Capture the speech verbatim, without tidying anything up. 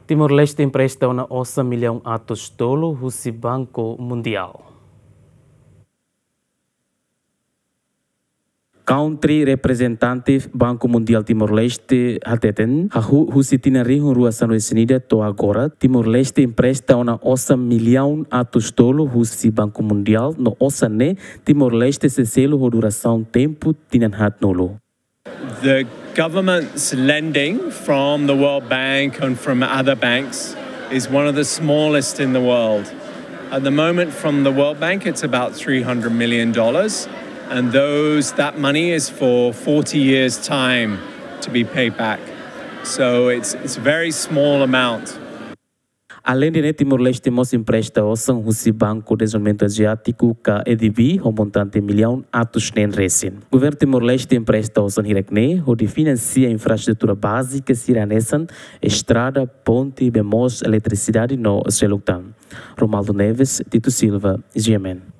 Timor-Leste empresta ona osan millaun atus tolu husi Banku Mundiál. Country Representative Banku Mundiál Timor-Leste hateten, hahú husi tinan rihun rua sanulu-resin-ida to'o agora, Timor-Leste empresta ona osan millaun atus tolu husi Banku Mundiál, no osan ne'e Timor-Leste sei selu ho durasaun tempu tinan haat-nulu. The government's lending from the World Bank and from other banks is one of the smallest in the world. At the moment, from the World Bank, it's about three hundred million dollars, and those, that money is for forty years' time to be paid back. So it's, it's a very small amount. Aleinde ne'e, Timor-Leste mós empresta osan husi Banku Dezenvolvimentu Aziátiku ka A D B ho montante millaun atus neen resin. Governu Timor-Leste empresta osan hirak-ne'e hodi finansia infraestrutura bázika sira hanesan estrada, ponte, bee moos, eletrisidade no seluk tan. Romaldo Neves, Tito Silva, G M N.